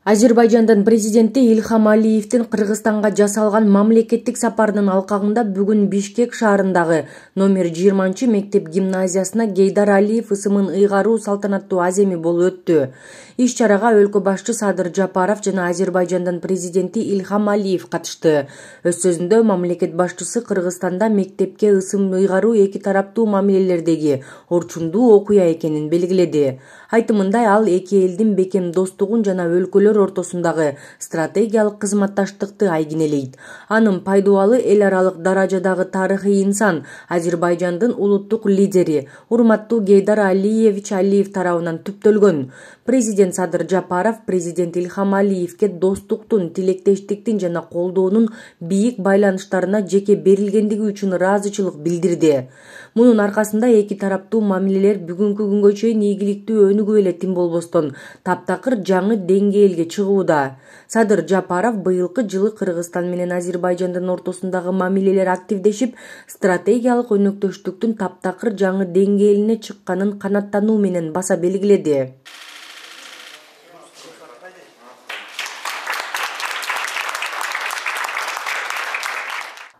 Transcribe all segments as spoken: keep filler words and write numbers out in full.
Азербайжандын президенти Ильхам Алиевдин Кыргызстанга жасалган мамлекеттик сапарынын алкагында бүгүн Бишкек шаарындагы номер жыйырманчы мектеп гимназиясына Гейдар Алиев ысымын ыйгаруу салтанаттуу аземи болуп өттү. Иш чарага өлкө башчы Садыр Жапаров жана Азербайжандын президенти Ильхам Алиев катышты. Өз сөзүндө мамлекет башчысы Кыргызстанда мектепке ысым ыйгаруу эки тараптуу мамилелердеги орчундуу окуя экенин белгиледи. Айтымында ал эки элдин бекем достугун жана өлкөлөр ортосундагы стратегиялык кызматташтыкты айгинелейт. Анын пайдубалы эл аралык даражадагы тарыхый инсан, Азербайжандын улуттук лидери, урматтуу Гейдар Алиевич Алиев тарабынан түптөлгөн. Президент Садыр Жапаров президент Ильхам Алиевке достуктун, тилектештиктин жана колдоонун бийик байланыштарына жеке берилгендиги үчүн ыраазычылык билдирди. Мунун аркасында эки тараптуу мамилелер бүгүнкү күнгө чейин ийгиликтүү өнүгүп эле тим болбостон таптакыр жаңы деңгээлге чыгууда. Садыр Жапаров быйылкы жылы Кыргызстан менен Азербайжандын ортосундагы мамилелер активдешип, стратегиялык өнөктөштүктүн таптакыр жаңы деңгээлине чыкканын канааттануу менен баса белгиледи.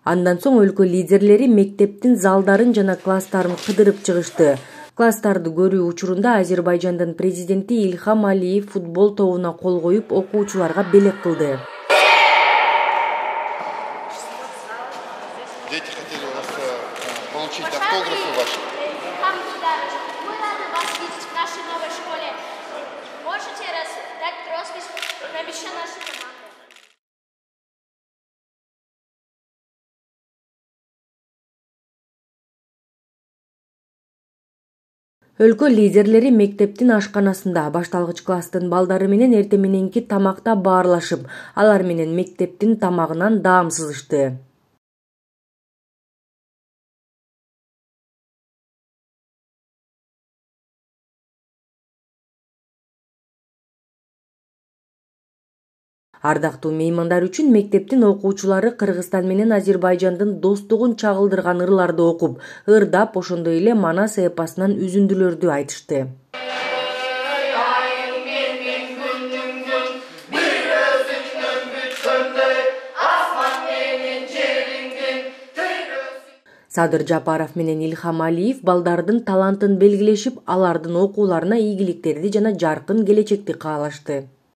Андан соң өлкө лидерлери мектептин залдарын жана класстарын кыдырып чыгышты. Класстарды көрүү учурунда Азербайжандын президенти Ильхам Алиев футбол тобуна кол коюп, окуучуларга белек кылды. Дети хотели у вас получить автографы ваши. Мы рады вас видеть в нашей новой школе. Можете дать роспись на мяче нашей команды? Өлкө лидерлери мектептин ашканасында башталгыч класстын балдары менен эртең мененки тамакта баарлашып, алар менен мектептин тамагынан даам сызышты. Ардактуу меймандар үчүн мектептин окуучулары Кыргызстан менен Азербайжандын достугун чагылдырган ырларды окуп, ырдап, ошондой эле Манас эпосунан үзүндүлөрдү айтышты. Садыр Жапаров менен Ильхам Алиев балдардын талантын белгилешип, алардын окууларына ийгиликтерди жана жаркын келечекти каалашты.